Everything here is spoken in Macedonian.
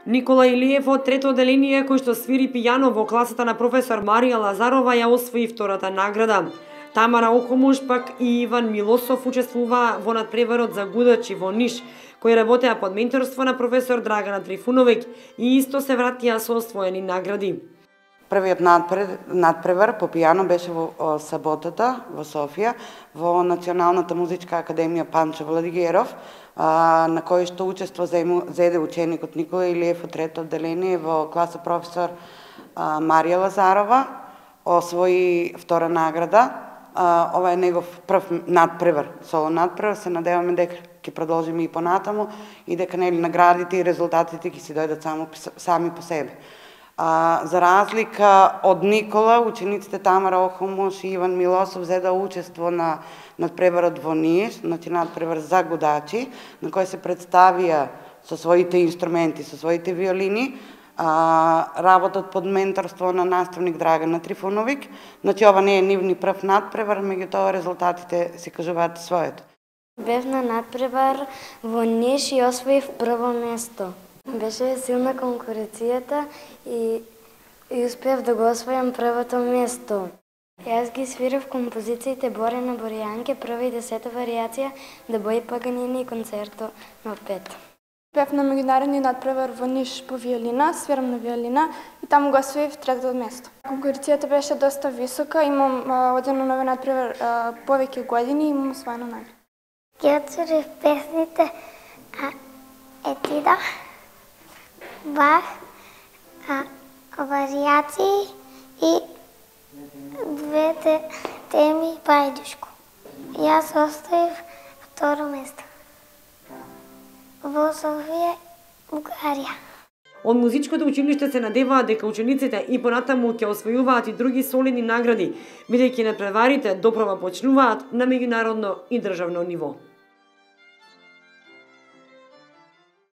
Никола Илиев од трето одделение кој што свири пијано во класата на професор Марија Лазарова ја освои втората награда. Тамара Охомуш пак и Иван Милосов учествуваа во надпреварот за гудачи во Ниш, кои работеа под менторство на професор Драгана Трифуновиќ и исто се вратија со освоени награди. Првиот надпревар по пијано беше во саботата во Софија, во Националната музичка академија Панчо Владигеров, на кој што учество зеде ученикот Никола Илиев од трето одделение во класа професор Марија Лазарова, освои втора награда. Ова е негов прв надпревар, соло надпревар, се надеваме дека ќе продолжиме и понатаму и дека наградите и резултатите ќе си дојдат сами по себе. За разлика од Никола, учениците Тамара Охомуш и Иван Милосов зеда учество на надпреварот во Ниш, значи надпревар за гудачи, на кој се представија со своите инструменти, со своите виолини, работат под менторство на наставник Драгана Трифуновиќ. Значи ова не е нивни прв надпревар, меѓутоа резултатите се кажуваат своето. Бев на надпревар во Ниш и освоив прво место. Беше силна конкуренцијата и успеав да го освојам првото место. Јас ги свирав композициите Борена Боријанке, прва и 10-та варијација, Дебои Паганини и концерто на 5. Бев на меѓународни надпревар во Ниш по виолина, свирам на виолина и таму го освоив трето место. Конкуренцијата беше доста висока, имам одено на овој надпревар повеќе години и имам освоена награда. Ги отсвирив песните Етида, Бах, варијации и двете теми Бајдушко. Јас оставив второ место во Софија, Бугарија. Од музичкото училиште се надеваат дека учениците и понатаму ќе освојуваат и други солидни награди, бидејќи надпреварите допрова почнуваат на меѓународно и државно ниво.